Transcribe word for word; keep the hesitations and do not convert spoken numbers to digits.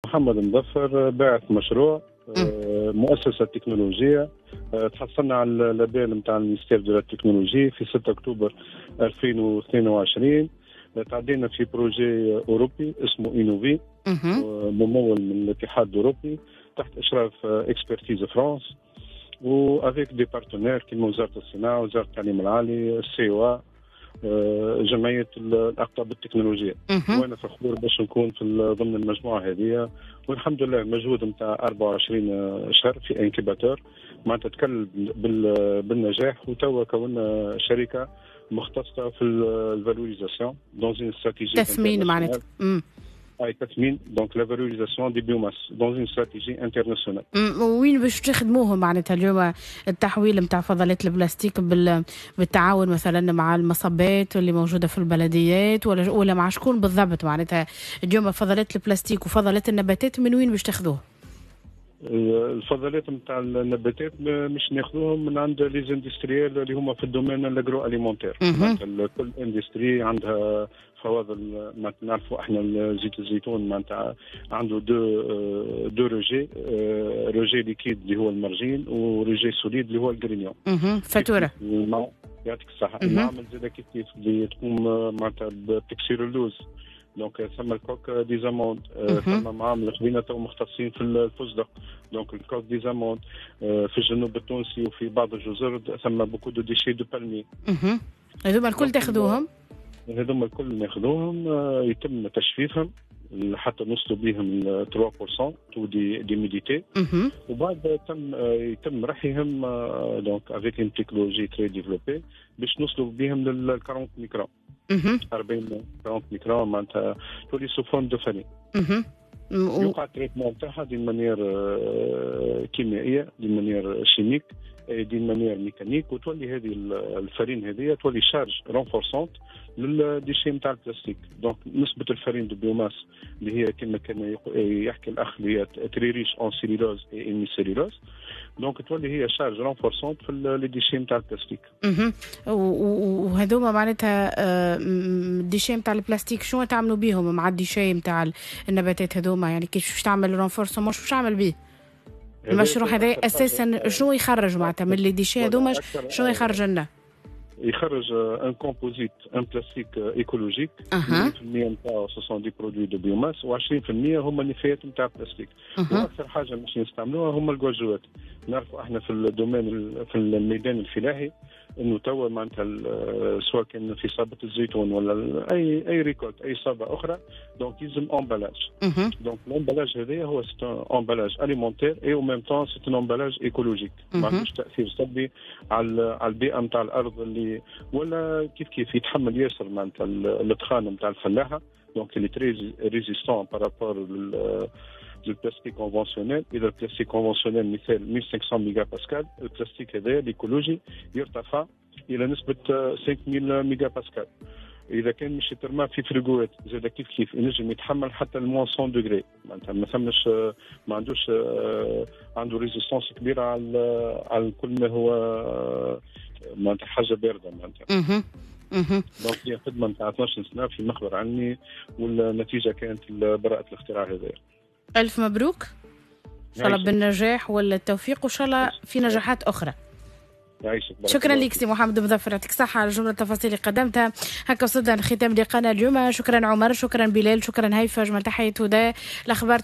محمد مظفر، باعث مشروع، آه، مؤسسة تكنولوجية. آه، تحصلنا على ال label نتاع ال ministère de la technologie في ستة أكتوبر ألفين واثنين وعشرين. آه، تعدينا في projet أوروبي اسمه Innovi، ممول من الاتحاد الأوروبي تحت إشراف Expertise France و avec des partenaires كيما وزارة الصناعة، وزارة التعليم العالي، ال CEA، جمعية الاقطاب التكنولوجيه. وانا فخور باش نكون في ضمن المجموعة هذه، والحمد لله المجهود نتاع أربعة وعشرين شهر في incubateur معناتها تكلل بالنجاح، وتوا كونا شركة مختصة في ال valorisation dans une stratégie تثمين معناتها. اي، تثمين، donc la valorisation des biomasses dans une stratégie internationale. وين باش تخدموهم معناتها اليوم التحويل نتاع فضلات البلاستيك؟ بال... بالتعاون مثلا مع المصبات اللي موجودة في البلديات ولا ولا مع شكون بالضبط؟ معناتها اليوم فضلات البلاستيك وفضلات النباتات من وين باش تاخذوه؟ الفضلات نتاع النباتات مش ناخذوهم من عند les industriels اللي هما في ال domaine l'agroalimentaire. كل industrie عندها فواضل. معناتها نعرفوا احنا زيت الزيتون معناتها عنده deux deux rejets، rejet liquide اللي هو المرجين و rejet solide اللي هو ال grignon. فاتوره. يعطيك الصحه. المعمل زاد كيف كيف اللي تقوم معناتها بتكسير اللوز، donc ثم ال coque des amandes. ثم معامل خذينا تو مختصين في الفستق، donc ال coque des amandes. في الجنوب التونسي وفي بعض الجزر ثم beaucoup de déchets de palmier. هذوما الكل تاخذوهم؟ هذوما الكل ناخذوهم، يتم تجفيفهم حتى نوصلوا بهم ثلاثة في المية taux d'humidité، وبعد تم يتم رحيهم donc avec une technologie très développée باش نوصلوا بهم لل أربعين microns، أربعين أربعين microns، معناتها تولي sous forme de farine. يوقع ال traitement تاعها d'une manière كيميائيه، d'une manière chimique، d'une manière mécanique، وتولي هذه ال farine هذه تولي charge renforçante لل déchets نتاع البلاستيك. donc نسبه ال farine de biomasse اللي هي كما كان يحكي الاخ اللي هي très riche en cellulose et hémicellulose، donc تولي هي charge renforçante في les déchets نتاع البلاستيك. اها، وهذوما معناتها ال déchets نتاع البلاستيك شنو تعملوا بيهم مع ال déchets نتاع النباتات هذوما؟ يعني كيف باش تعمل renforcement؟ شو باش تعمل بيه؟ المشروع هذا اساسا شنو يخرج معناتها من les déchets هذوما؟ شنو يخرج لنا؟ يخرج un composite، un plastique écologique، مية في المية نتاعو ce sont des produits de biomasse وعشرين في المية هما النفايات نتاع البلاستيك. واكثر حاجة مش نستعملوها هما الجوجوات. نعرفوا احنا في ال domaine، في الميدان الفلاحي، انه توا معناتها سواء كان في صابه الزيتون ولا اي اي récolte، اي صابه اخرى، donc يلزم emballage. donc l'emballage هذايا هو c'est un emballage alimentaire et au même temps c'est un emballage écologique، ما عندوش تاثير سلبي على على البيئة نتاع الارض اللي ولا كيف كيف يتحمل ياسر معناتها الدخان نتاع الفلاحه، donc il est très résistant par rapport لل plastique conventionnel. اذا ال plastique conventionnel مثال ألف وخمسمية ميجا باسكال، البلاستيك هذا l'écologique يرتفع الى نسبه خمسة آلاف ميجا باسكال. اذا كان مش يترمى في فريغوات زاد كيف كيف ينجم يتحمل حتى ال moins مية degrés، معناتها ما ثمش ما عندوش عنده résistance كبيرة على على كل ما هو معناتها حاجة باردة معناتها. donc هي خدمة نتاع اثناش سنة في مخبر علمي، والنتيجة كانت براءه الاختراع هذا. الف مبروك، ان شاء الله بالنجاح والتوفيق، وان شاء الله في نجاحات اخرى. يعيشك. شكرا لك سي محمد مظفر، يعطيك الصحة على جملة التفاصيل اللي قدمتها. هكا وصلنا لختام لقانا اليوم. شكرا عمر، شكرا بلال، شكرا هيفا، جمال، تحية هدى. الأخبار.